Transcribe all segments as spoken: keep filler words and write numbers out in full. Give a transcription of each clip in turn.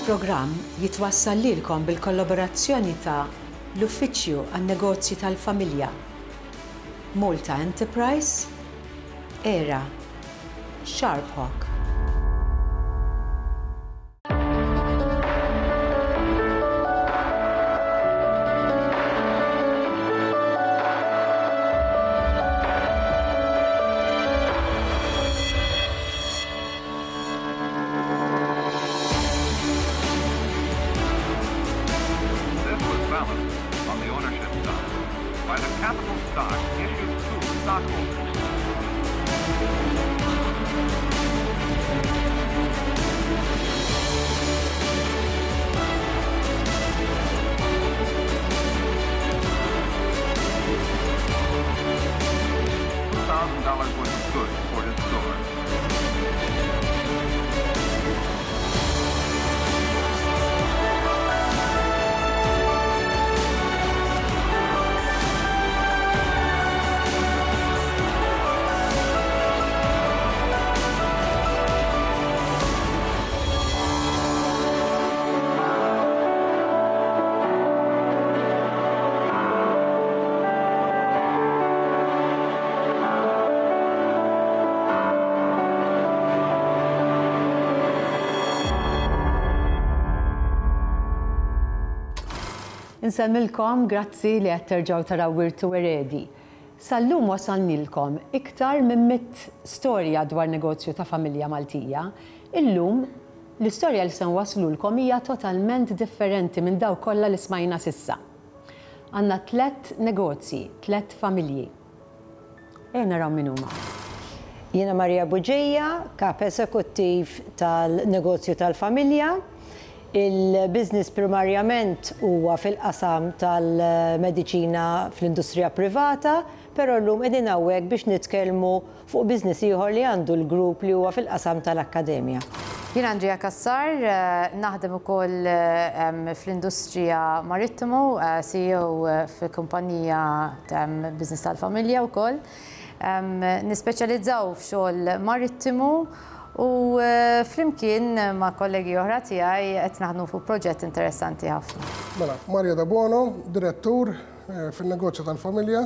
Il-programm jitwassal lilkom bil-kollaborazzjoni ta' l-Uffiċċju għan-Negozji tal-Familja, Malta Enterprise, Era, Sharp Hawk. This was balanced on the ownership side by the capital stock issued to stockholders. Two thousand dollars worth of goods for his store. Insellmilkom, grazzi li qed terġgħu taraw Wirt u Eredi. Sal-lum wasalnilkom iktar minn mitt storja dwar negozju ta' familja Maltija. Illum l-istorja li se nwaslulkom hija totalment differenti minn dawk kollha li smajna s'issa. Għandna tliet negozji, tliet familji. Ejja naraw min huma. Jiena Maria Bugeja, kap eżekuttiv tal-negozju tal-familja. Il-business primarjament huwa fil-qasam tal-mediċina fl-industrija privata, però llum qegħdin hawnhekk biex nitkellmu fuq business ieħor li għandu l-grupp li huwa fil-qasam tal-akkademja. Jien Andrea Cassar, eh, naħdem ukoll eh, fl-industrija marittimu, eh, C E O fil-kumpanija business tal-familja wkoll. Nispeċjalizzaw f'xogħol marittimu u flimkien ma' kollegi oħra tiegħi qed naħdmu fuq proġett interessanti ħafna. Mela, Maria Da Bono, direttur fin-negozju tal-familja.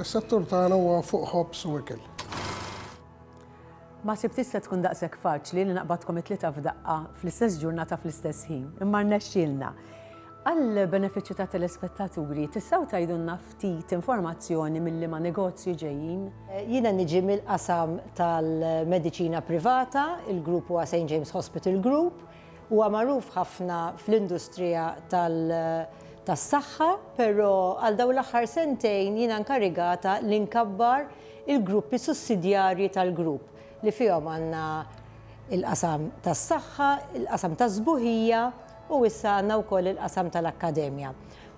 Is-settur tagħna huwa fuq ħobż u ikel. Ma ħsibtx se tkun daqshekk faċli li naqbadkom it-tlieta f'daqqa fl-istess ġurnata fl-istess ħin, imma rnexxielna. Għal benefiċċju ta' telespettaturi, tistgħu tgħidulna ftit informazzjoni minn liema negozju ġejjin? Jiena niġi mill-qasam tal-mediċina privata, il-grupp huwa Saint James Hospital Group, huwa magħruf ħafna fl-industrija tas-saħħa, però għal dawn l-aħħar sentejn jiena nkarigata li nkabbar il-gruppi sussidjarji tal-grupp li fihom għandna il-qasam tas-saħħa, il-qasam tas-sbuħija u issa għandna wkoll il-qasam tal-akkademja.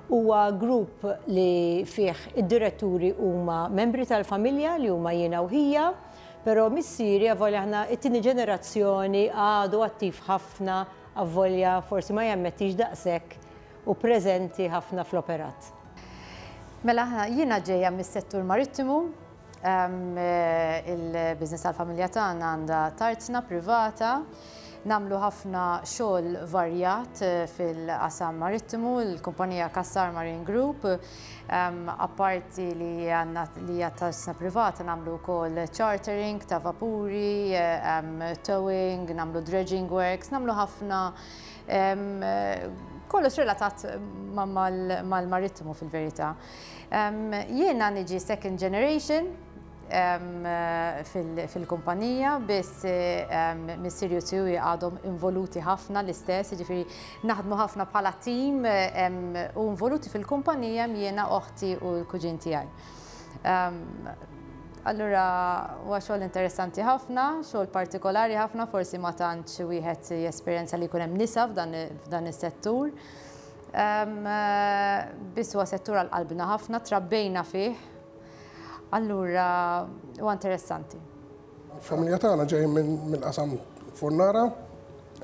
Huwa grupp li fih id-diretturi huma membri tal-familja li huma jiena u ħija, però missieri, avolja aħna it-tieni ġenerazzjoni, għadu attiv ħafna, avolja forsi ma jammettix daqshekk, u preżenti ħafna fl-operat. Mela aħna, jiena ġejja mis-settur marittimu, il-business tal-familja tagħna għandha tarzna privata, nagħmlu ħafna xogħol varjat fil-qasam marittimu, il-kumpanija Cassar Marine Group, apparti li għandna li hija tarzna privata, nagħmlu wkoll chartering ta' vapuri, towing, nagħmlu dredging works, nagħmlu ħafna kollox relatat mal-marittimu fil-verità. Jiena niġi second generation fil-kumpanija, biss missieri u tiegħi għadhom involuti ħafna l-istess, ġifieri naħdmu ħafna bħala team u involuti fil-kumpanija jiena, oħti u l-kuġin tiegħi. Allura huwa xogħol interessanti ħafna, xogħol partikolari ħafna, forsi ma tantx wieħed jesperjenza li jkun hemm nisa f'dan is-settur. Biss huwa settur għal qalbna ħafna, trabbejna fih. Allura huwa interessanti. Il-familja tagħna ġej mill-qasam Furnara.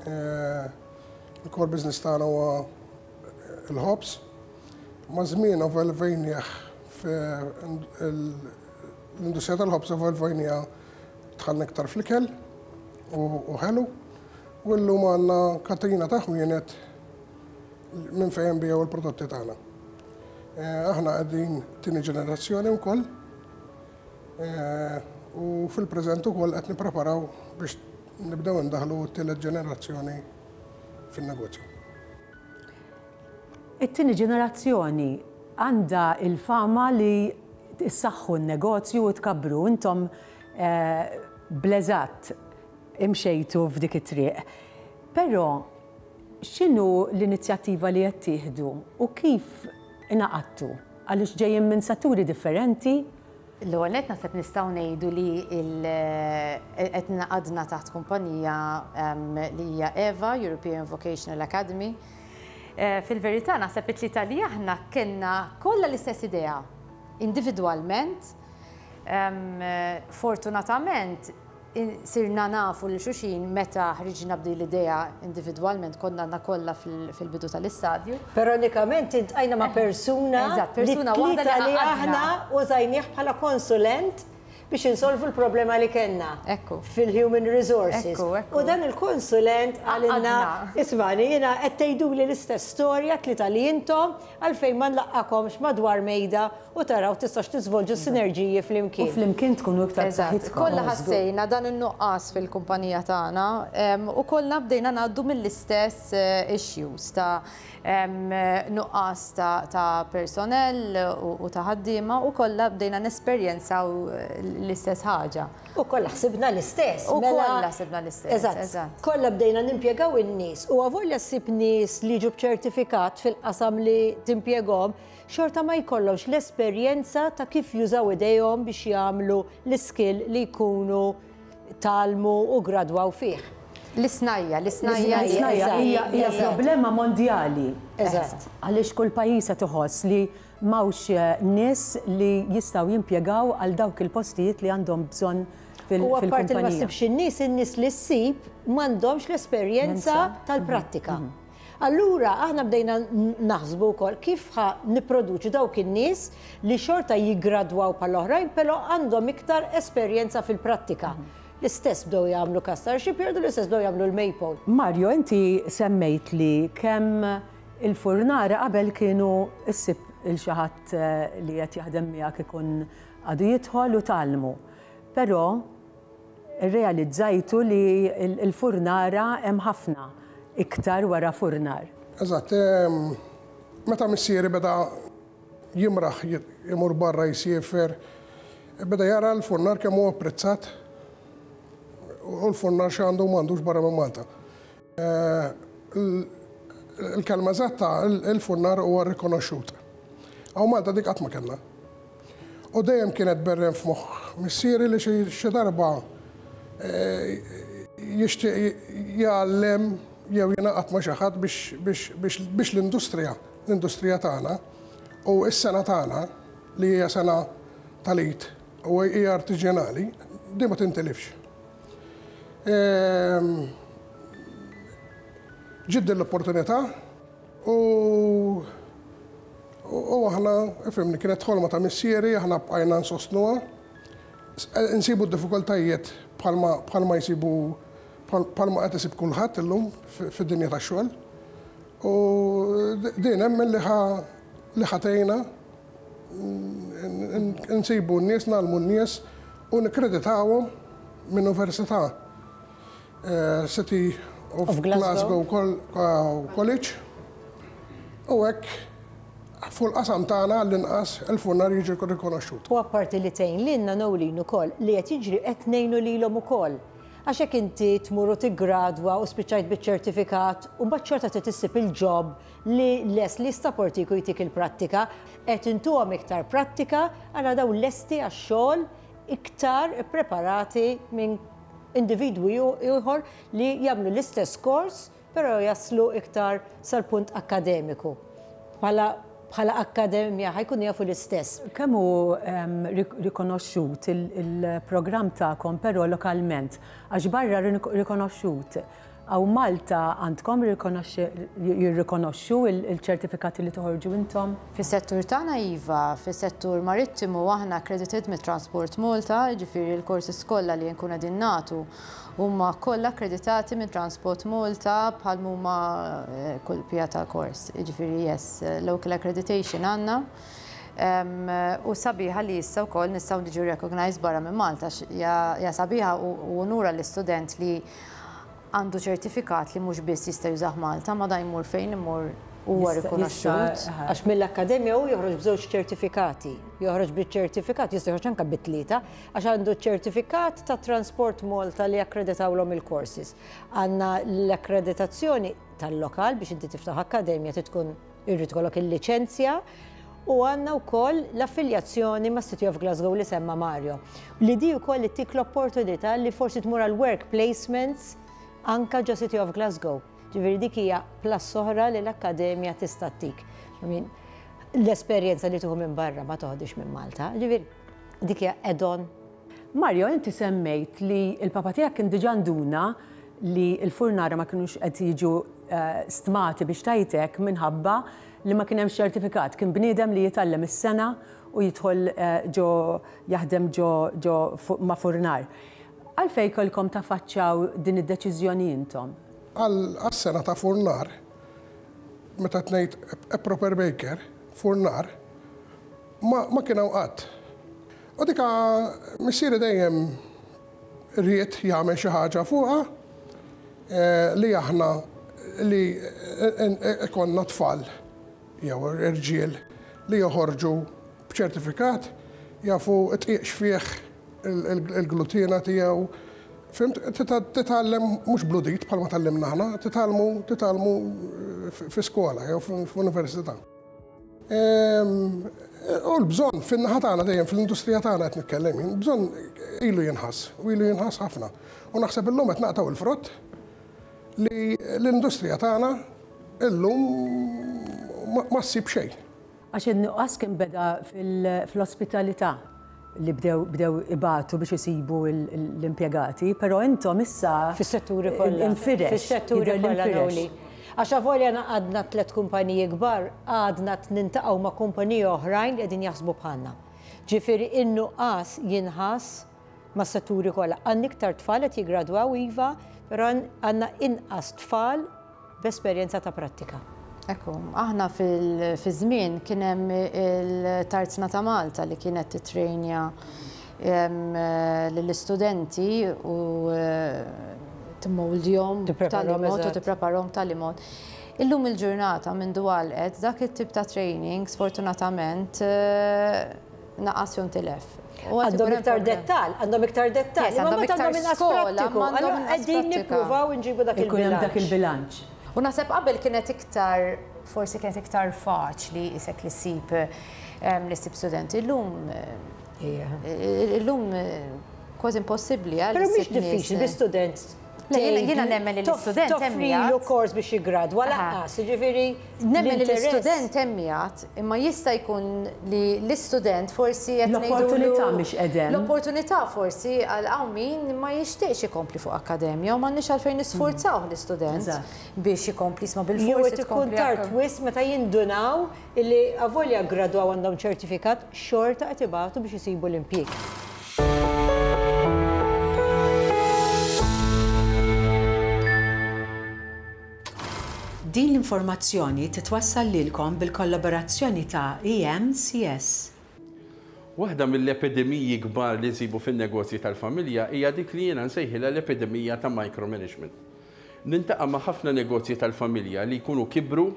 Il-core business tagħna huwa il-ħobż. Ma' żmien evolvejnieh, l-industrija tal-ħobż evolvejniha, dħalna iktar fl-ikel u ħelu. U llum għandna katina ta' ħwienet minn fejn nbigħu l-prodotti tagħna. Aħna qegħdin tieni ġenerazzjoni wkoll u fil-preżent ukoll qed nippreparaw biex nibdew indaħlu t-tielet ġenerazzjoni fin-negozju. It-tieni ġenerazzjoni għandha il-fama li issaħħu n-negozju u tkabbru. Intom bl-eżatt imxejtu f'dik it-triq. Però x'inhu l-inizjattiva li qed tieħdu u kif ingħaqadtu? Għaliex ġejjin minn setturi differenti? L-ewwel nett naħseb nistgħu ngħidu li qed ingħaqadna taħt kumpanija li hija EVA, European Vocational Academy. Fil-verità naħseb it-tlieta li aħna kellna kollha l-istess idea individwalment. Fortunatament sirna nafu lil xulxin meta ħriġna b'din l-idea individwalment, konna għandna kollha fil-bidu tal-istadju. Però unikament iltqajna ma' persuna. Eżatt, persuna waħda li aħna użajnieh bħala konsulent biex insolvu l-problema li kellna Ekku. fil-human resources. Ekku, ekku. U dan il-konsulent qalilna, "Ismagħni, jiena qed tgħiduli l-istess storja tlieta li intom, għalfejn ma nlaqqakomx madwar mejda u taraw tistax tiżvolġu sinerġiji flimkien?" U flimkien tkunu iktar Eżatt, b'saħħitkom. kollha ħassejna dan in-nuqqas fil-kumpanija tagħna em, u kollha bdejna ngħaddu mill-istess eh, issues ta' em, nuqqas ta', ta' personnel u, u ta' ħaddiema u kollha bdejna nesperjenzaw eh, l-istess ħaġa. U kollha ħsibna l-istess. U mela- kollha ħsibna l-istess, Eżatt. eżatt. Kollha bdejna nimpjegaw in-nies u avolja ssib nies li ġu b'ċertifikat fil-qasam li timpjegahom, xorta ma jkollhomx l-esperjenza ta' kif jużaw idejhom biex jagħmlu l-skill li jkunu tgħallmu u gradwaw fih. L-isnajja, l-isnajja. L-isnajja hija hija Eżatt. problema mondjali. Eżatt. Għaliex kull pajjiż qed iħoss li m'hawnx eh, nies li jistgħu jimpjegaw għal dawk il-postijiet li għandhom bżonn fil- U apparti li ma fil-kumpanija. ssibx in-nies, in-nies li ssib m'għandhomx l-esperjenza tal-prattika. Allura aħna bdejna naħsbu wkoll kif ħa nipproduċu dawk in-nies li xorta jiggradwaw bħall-oħrajn, però għandhom iktar esperjenza fil-prattika. L-istess bdew jagħmlu Cassar Shipyard u l-istess bdew jagħmlu l-Maypole. Mario, inti semmejt li kemm il-furnara qabel kienu issib lil xi ħadd eh, li qed jaħdem miegħek ikun għadu jidħol u tgħallmu. Però realizzajtu li il- il-furnara hemm ħafna iktar wara furnar. Eżatt, em, meta missieri beda jimraħ jimur barra jisiefer, beda jara l-furnar kemm huwa apprezzat u l-furnar x'għandu m'għandux barra minn Malta. Eh, Il-kelma eżatta, il-furnar huwa rikonoxxut. Hawn Malta dik qatt ma kellna. U dejjem kienet berren f'moħħ missieri li xi xi darba eh, jixtieq jgħallem jew jingħaqad ma' xi ħadd biex biex biex biex l-industrija, l-industrija tagħna u s-sengħa tagħna li hija sengħa tal-id u hija artiġjanali, di ma tintilifx. Ehm, Ġiet l-opportunità u u aħna, ifhimni, kienet ħolma ta' missieri, aħna bqajna nsostnuha. Nsibu d-diffikultajiet bħalma bħalma jsibu bħalma qed isib kulħadd illum fid-dinja tax-xogħol. U din hemm li ħa li ħa tgħinna nsibu n-nies, ngħallmu n-nies u nikkreditawhom minn università eh, City of, Of Glasgow. Glasgow College. U hekk fuq il-qasam tagħna l-inqas il-furnar jiġi rikonoxxut. U apparti li tgħin lilna, Nolin, ukoll li qed jiġri qed ngħinu lilhom ukoll. Għax hekk inti tmur u tiggradwa u spiċċajt biċ-ċertifikat u mbagħad xorta trid issib il-job li les li jissaportik u jtik il-prattika, qed intuhom iktar prattika għala daw lesti għax-xogħol iktar preparati minn individwi ieħor li jagħmlu l-istess kors però jaslu iktar sal-punt akkademiku. Bħala bħala akkademja ħa jkunu jafu l-istess. Kemm hu em, rik- rikonoxxut il- il-programm tagħkom però lokalment, għax barra rik- rikonoxxut, Hawn Malta għandkom jirrikonoxxu il-ċertifikati li toħorġu intom? Fis-settur tagħna iva, fis-settur marittimu aħna accredited mit Transport Malta, ġifieri l-korsi kollha li nkunu qegħdin nagħtu huma kollha akkreditati minn Transport Malta bħal huma eh, kull pija ta' kors. Ġifieri yes, local accreditation għandna. U sabiħa li issa wkoll nistgħu niġu recognized barra minn Malta. Ja sabiħa u unura l-istudent li għandu ċertifikat li mhux biss jista' jużah Malta, ma da jmur fejn imur huwa rikonoxxut. Għax mill-akkademja hu joħroġ b'żewġ ċertifikati. Joħroġ biċ-ċertifikat, jista' joħroġ anke bit-tlieta, għax għandu ċertifikat ta' Transport Malta li akkreditawlhom il-courses. Għandna l-akkreditazzjoni tal-lokal biex inti tiftaħ akkademja tkun irrid ikollok il-liċenzja u għandna wkoll l-affiljazzjoni ma' City of Glasgow li semma Mario. Li di wkoll ittik l-opportunità li forsi tmur għal work placements anka ġo City of Glasgow. Ġifieri dik hija plus oħra li l-akkademja tista' ttik. L-esperjenza li tieħu minn barra ma toħdix minn Malta. Ġifieri dik hija add-on. Mario, inti semmejt li l-papa tiegħek kien diġà nduna li l-furnara ma kinux qed jiġu eh, stmati biex tajtek minħabba li ma kien hemm ċertifikat. Kien bniedem li jitgħallem is-sengħa u jidħol eh, ġo jaħdem ġo ġo ma' furnar. Għalfejn kellkom taffaċċjaw din id-deċiżjoni intom? Għas-sengħa ta' furnar, meta tnejt a proper baker, furnar, ma, ma kien hawn qatt. U dika missieri dejjem ried jagħmel xi ħaġa fuqha eh, li aħna li konna tfal jew irġiel li joħorġu b'ċertifikat jafu tqiqx fih il-glutina tiegħu. Fhimt, titgħallem mhux bludit bħalma tgħallimna aħna, titgħallmu titgħallmu fi skola jew f'università. U l-bżonn fin-naħa tagħna dejjem fl-industrija tagħna qed nitkellem, bżonn ilu jinħass u ilu jinħass ħafna. U naħseb illum qed naqtgħu il-frott li l-industrija tagħna illum ma ssib xejn. Għax in-nuqqas kien beda fl-ospitalità li bdew bdew ibatu biex isibu l-impjegati, però intom issa fis-setturi kollha. Infirex. Fis-setturi kollha Noli. Għax avolja għadna tliet kumpaniji kbar, għadna niltaqgħu ma' kumpaniji oħrajn li qegħdin jaħsbu bħalna. Ġifieri in-nuqqas jinħass ma' setturi kollha. Għandna iktar tfal qed jiggradwaw iva, però għandna inqas tfal b'esperjenza ta' prattika. Ekku, aħna fil-żmien kien hemm il-Tarzna ta' Malta li kienet titrejnja lill-istudenti u timmoldjhom tal mod u tippreparahom tal mod. Illum il-ġurnata minn dwalqet dak it-tip ta' training sfortunatament naqas jew intilef. Għandhom iktar dettal, għandhom iktar dettal, għandhom iktar skola, għandhom qegħdin nippruvaw inġibu dak il-bilanċ. Dak il-bilanċ. U naħseb qabel kienet iktar, forsi kienet iktar faċli isek li ssib li ssib studenti. Illum, illum kważi impossibbli. Però mhix diffiċli bi student. Jiena nemmen li l-istudent hemm Toffrilu kors biex jiggradwa lanqas, jiġifieri Nemmen li l-istudent hemm jgħid, imma jista' jkun li l-istudent forsi qed L-opportunità mhix qegħdem. L-opportunità forsi għal hawn min ma jixtieqx ikompli fuq akkademja u m'għandniex għalfejn nisforzaw l-istudent biex ikompli isma' bil-forsi. Jew ikun tard wisq meta jindunaw illi avolja ggradwaw għandhom ċertifikat xorta qed ibatu biex isibu l-impjieg. Din l-informazzjoni titwassal lilkom bil-kollaborazzjoni ta' E M C S. Waħda mill-epidemiji kbar li nsibu fin-negozji tal-familja hija dik li jiena nsejħilha l-epidemija ta' micromanagement. Niltaqa' ma' ħafna negozji tal-familja li jkunu kibru,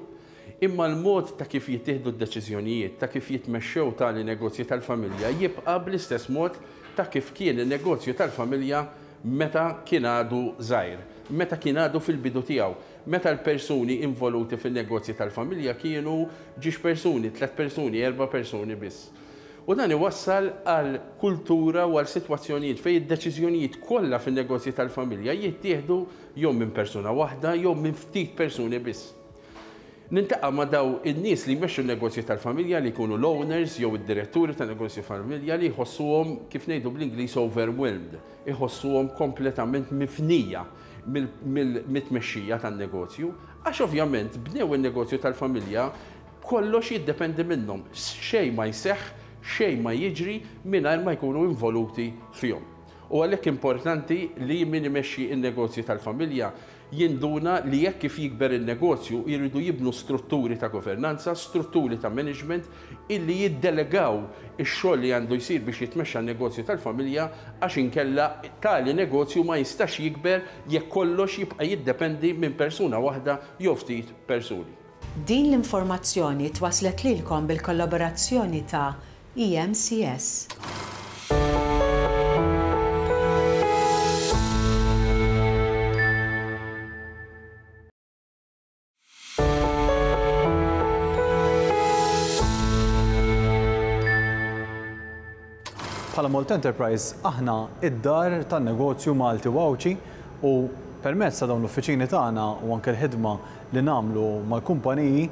imma l-mod ta' kif jittieħdu d-deċiżjonijiet, ta' kif jitmexxew tali negozji tal-familja jibqa' bl-istess mod ta' kif kien il-negozju tal-familja meta kien għadu żgħir, meta kien għadu fil-bidu tiegħu, meta l-persuni involuti fil-negozji tal-familja kienu ġiex persuni, tlet persuni, erba' persuni biss. U dan iwassal għal kultura u għal sitwazzjonijiet fejn id-deċiżjonijiet kollha fin-negozji tal-familja jittieħdu jew minn persuna waħda jew minn ftit persuni biss. Niltaqa' ma' daw in-nies li jmexxu n-negozji tal-familja li jkunu l-owners jew id-diretturi ta' negozji familja li jħossuhom, kif ngħidu bl-Ingliż, overwhelmed, iħossuhom kompletament mifnija. mit-tmexxija tan-negozju, għax ovvjament bnew in-negozju tal-familja kollox jiddependi minnhom, xejn ma jseħħ, xejn ma jiġri mingħajr ma jkunu involuti fihom. U għalhekk importanti li min imexxi n-negozju tal-familja jinduna li jekk kif jikber il-negozju jridu jibnu strutturi ta' governanza, strutturi ta' management illi jiddelegaw ix-xogħol li għandu jsir biex jitmexxa n-negozju tal-familja, għax inkella tali negozju ma jistax jikber jekk kollox jibqa' jiddependi minn persuna waħda jew ftit persuni. Din l-informazzjoni twaslet lilkom bil-kollaborazzjoni ta' E M C S. Bħala Malta Enterprise aħna id-dar tan-negozju Malti u Għawdxi u permezz ta' dawn l-uffiċini tagħna u anke l-ħidma li nagħmlu mal-kumpaniji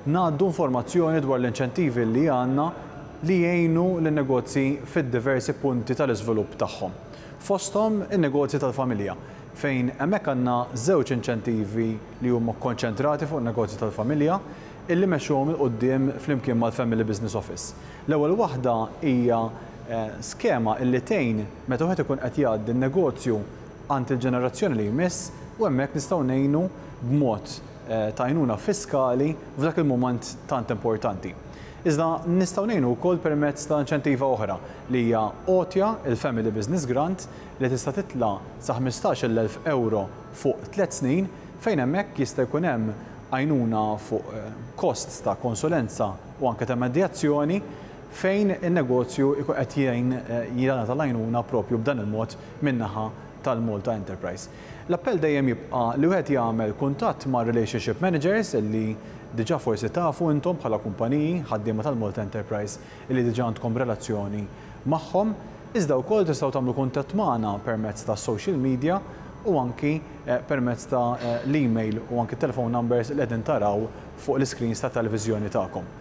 ngħaddu informazzjoni dwar l-inċentivi li għandna li jgħinu lin-negozji fid-diversi punti tal-iżvilupp tagħhom. Fosthom in-negozji tal-familja, fejn hemmhekk għandna żewġ inċentivi li huma kkonċentrati fuq in-negozji tal-familja illi mexxuhom 'il quddiem flimkien mal-Family Business Office. L-ewwel waħda hija skema illi tgħin meta wieħed ikun qed jgħaddi n-negozju għand il-ġenerazzjoni li jmiss u hemmhekk nistgħu ngħinu b'mod ta' għajnuna fiskali f'dak il-mument tant importanti. Iżda nistgħu ngħinu wkoll permezz ta' inċentiva oħra li hija għotja, il-Family Business Grant, li tista' titla' sa ħmistax-il elf euro fuq tliet snin, fejn hemmhekk jista' jkun hemm għajnuna fuq kosts ta' konsulenza u anke ta' medjazzjoni fejn in-negozju ikun qed jgħin jingħata l-għajnuna propju b'dan il-mod min-naħa tal-Malta Enterprise. L-appell dejjem jibqa' li wieħed jagħmel kuntatt ma' relationship managers illi diġà forsi tafu intom bħala kumpaniji ħaddiema tal-Malta Enterprise illi diġà għandkom relazzjoni magħhom, iżda wkoll tistgħu tagħmlu kuntatt magħna permezz ta' social media u anki permezz ta' l-email u anki telephone numbers li qegħdin taraw fuq l-iscreens ta' televiżjoni tagħkom.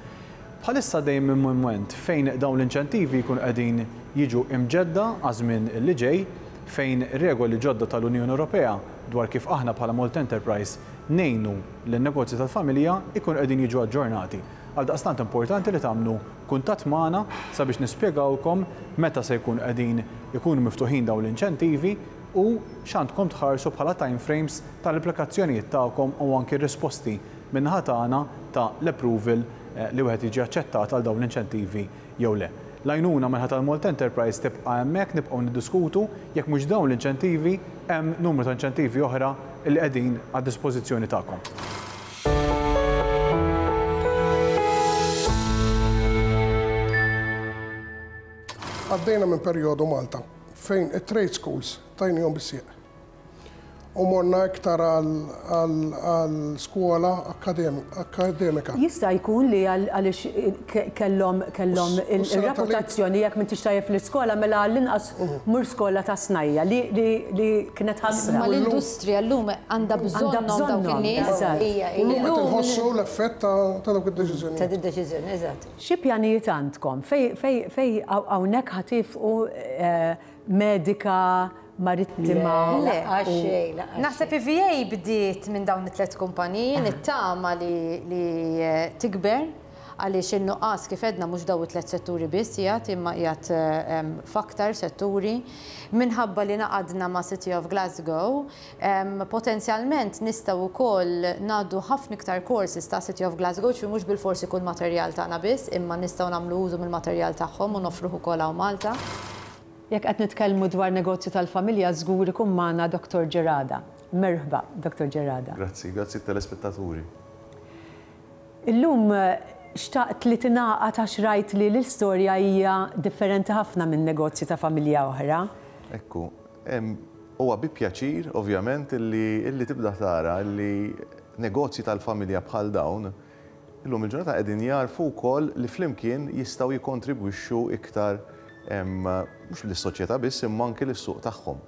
Bħalissa dejjem minn mument fejn dawn l-inċentivi jkunu qegħdin jiġu imġedda għaż-żmien li ġej, fejn regoli ġodda tal-Unjoni Ewropea dwar kif aħna bħala Malta Enterprise ngħinu lin-negozji tal-familja jkunu qegħdin jiġu aġġornati. Għaldaqstant importanti li tagħmlu kuntatt magħna sabiex nispjegawkom meta se jkunu qegħdin ikunu miftuħin dawn l-inċentivi u x'għandkom tħarsu bħala time frames tal-applikazzjonijiet tagħkom u anki r-risposti min-naħa tagħna ta' l-approval li wieħed jiġi aċċettat għal dawn l-inċentivi jew le. L-għajnuna minħata tal-Malta Enterprise tibqa' hemmhekk, nibqgħu niddiskutu jekk mhux dawn l-inċentivi hemm numru ta' inċentivi oħra li qegħdin għad-dispożizzjoni tagħkom. Għaddejna minn perjodu Malta fejn it-trade schools tajnihom bis-sieq. U morna iktar għal skola akademika. Jista' jkun li għaliex kellhom kellhom il-reputazzjoni jekk m'intix tajjeb fl-iskola mela għall-inqas mur skola ta' snajja li kienet ħasra. Ma l-industrija llum għandha bżonnhom dawk in-nies. Illum qed inħossu l-effett ta' dawk id-deċiżjoni. Ta' id-deċiżjoni, eżatt. Xi pjanijiet għandkom? Fej hawnhekk ħatifqu medika, marittima? Le, naħseb I V A bdiet minn dawn it-tliet kumpaniji, nittama li tikber għaliex in-nuqqas kif edna mhux dawn it-tliet setturi biss qiegħed imma qiegħed f'aktar setturi. Minħabba li naqadna ma' City of Glasgow, potenzjalment nistgħu wkoll ngħaddu ħafna iktar courses ta' City of Glasgow, ċi mhux bilforsi jkun materjal tagħna biss, imma nistgħu nagħmlu użu mill-materjal tagħhom u nofruh ukoll hawn Malta. Jekk qed nitkellmu dwar negozju tal-familja, żgur ikun magħna Doktor Gerada. Merħba, Doktor Gerada. Grazzi, grazzi telespettaturi. Illum xtaqt li tingħaqad għax rajt li l-istorja hija differenti ħafna minn negozju ta' familja oħra. Ekku, huwa bi pjaċir ovvjament illi tibda tara li negozji tal-familja bħal dawn illum il-ġurnata qegħdin jarfu wkoll li flimkien jistgħu jikkontribwixxu iktar mhux lis-soċjetà biss imma anke lis-suq tagħhom.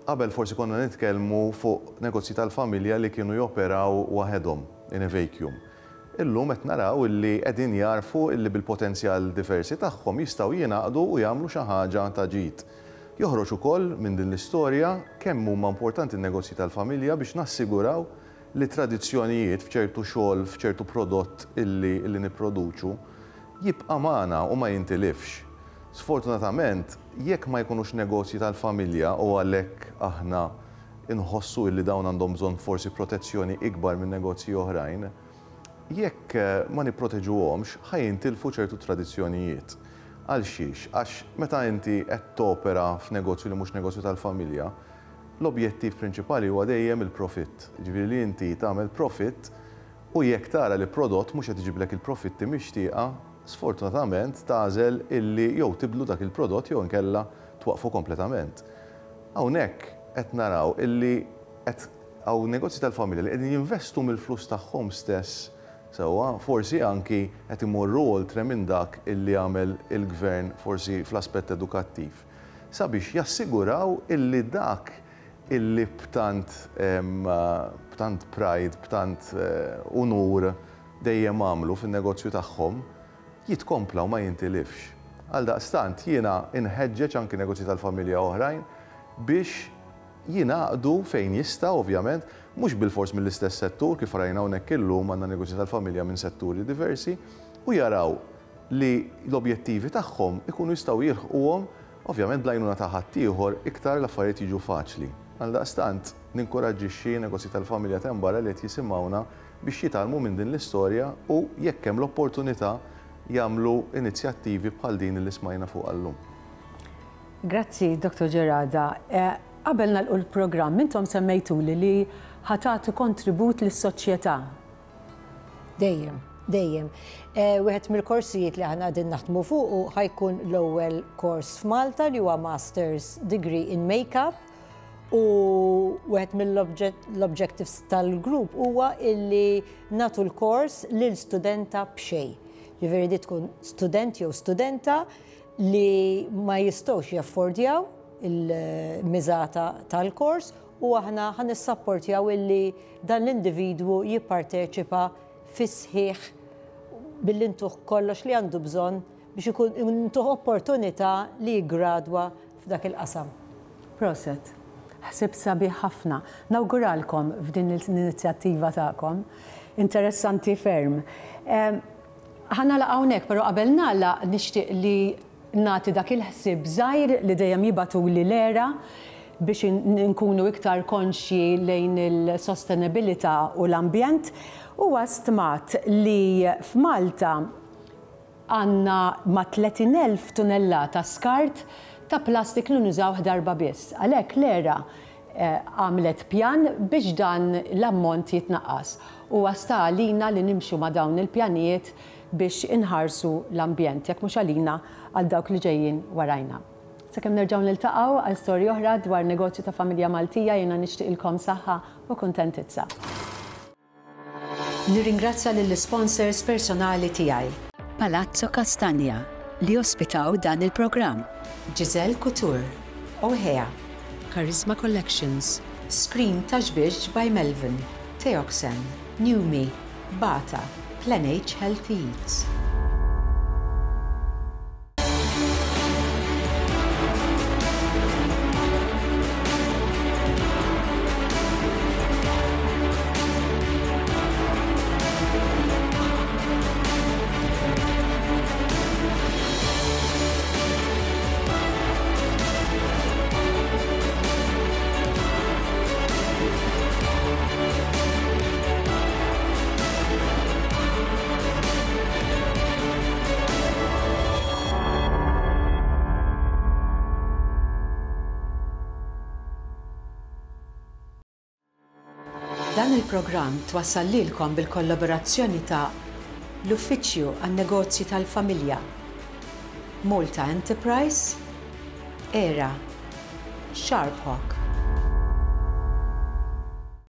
Qabel forsi konna nitkellmu fuq negozji tal-familja li kienu joperaw waħedhom in a vacuum. Illum qed naraw illi qegħdin jarfu illi bil-potenzjal diversi tagħhom jistgħu jingħaqdu u jagħmlu xi ħaġa ta' ġid. Joħroġ ukoll minn din l-istorja kemm huma importanti n-negozji tal-familja biex nassiguraw li tradizzjonijiet f'ċertu xogħol, f'ċertu prodott illi, illi nipproduċu jibqa' magħna u ma jintilifx. Sfortunatament, jekk ma jkunux negozji tal-familja u għalhekk aħna inħossu illi dawn għandhom bżonn forsi protezzjoni ikbar minn negozji oħrajn, jekk ma nipproteġuhomx ħa jintilfu ċertu tradizzjonijiet. Għal xiex? Għax meta inti qed topera f'negozju li mhux negozju tal-familja, l-objettiv prinċipali huwa dejjem il-profitt. Ġifieri li inti tagħmel profitt u jekk tara li prodott mhux qed iġiblek il-profitti mixtieqa, sfortunatament tagħżel illi jew tibdlu dak il-prodott jew inkella twaqfu kompletament. Hawnhekk qed naraw illi qed hawn negozji tal-familja li qegħdin jinvestu mill-flus tagħhom stess sewwa, forsi anki qed imorru oltre minn dak illi għamel il-gvern forsi fl-aspett edukattiv, sabiex jassiguraw illi dak illi b'tant, b'tant pride, b'tant unur dejjem għamlu fin-negozju tagħhom jitkompla u ma jintilifx. Għaldaqstant jiena inħeġġeġ anki negozji tal-familja oħrajn biex jingħaqdu fejn jista' ovvjament, mhux bilfors mill-istess settur kif rajna hawnhekk illum għandna negozji tal-familja minn setturi diversi, u jaraw li l-objettivi tagħhom ikunu jistgħu jilħquhom ovvjament bl-għajnuna ta' ħaddieħor iktar l-affarijiet jiġu faċli. Għaldaqstant ninkoraġġixxi negozji tal-familja t'hemm barra li qed jisimgħuna biex jitgħallmu minn din l-istorja u jekk hemm l-opportunità jagħmlu inizjattivi bħal din li smajna fuq llum. Grazzi, Doktor Gerada. Qabel nagħlqu l-programm, intom semmejtuli li ħa tagħtu kontribut lis-soċjetà. Dejjem, dejjem. Wieħed mill-korsijiet li aħna qegħdin naħdmu fuq ħa jkun l-ewwel kors f'Malta li huwa Master's Degree in Makeup, u wieħed mill-objectives tal-grupp huwa illi nagħtu l-kors lil studenta b'xejn. Ġifieri di tkun student jew studenta li ma jistgħux jaffordjaw il-miżata tal-kors, u aħna ħa nissapportjaw illi dan l-individwu jipparteċipa fis-sħiħ billi ntuh kollox li għandu bżonn biex ikun ntuh opportunità li jiggradwa f'dak il-qasam. Proset. Ħsieb sabiħ ħafna. Nawguralkom f'din l-inizjattiva tagħkom. Interessanti ferm. Ħa nagħlaq hawnhekk, però qabel nagħlaq nixtieq li nagħti dak il-ħsieb żgħir li dejjem jibgħatuli l-ERA biex nkunu iktar konxji lejn il-sostenibilità u l-ambjent. Huwa stmat li f'Malta għandna ma' tletin elf tunellata skart ta' plastik li nużawh darba biss. Għalhekk l-ERA għamlet pjan biex dan l-ammont jitnaqqas. Huwa sta għalina li nimxu ma' dawn il-pjanijiet biex inħarsu l-ambjent, jekk mhux għalina għal dawk li ġejjin warajna. Sakemm nerġgħu niltaqgħu għal storja oħra dwar negozju ta' familja Maltija, jiena nixtieqilkom saħħa u kuntentizza. Nirringrazzja lill-sponsors personali tiegħi. Palazzo Castagna li ospitaw dan il-programm. Giselle Couture, Ohea, Charisma Collections, Screen Taxbix by Melvin, Teoxen, Newme, Bata, Plan H Healthy Eats. Dan il-programm twassal lilkom bil-kollaborazzjoni ta' l-Uffiċċju għan-Negozji tal-Familja, Malta Enterprise, ERA, Sharp Hawk.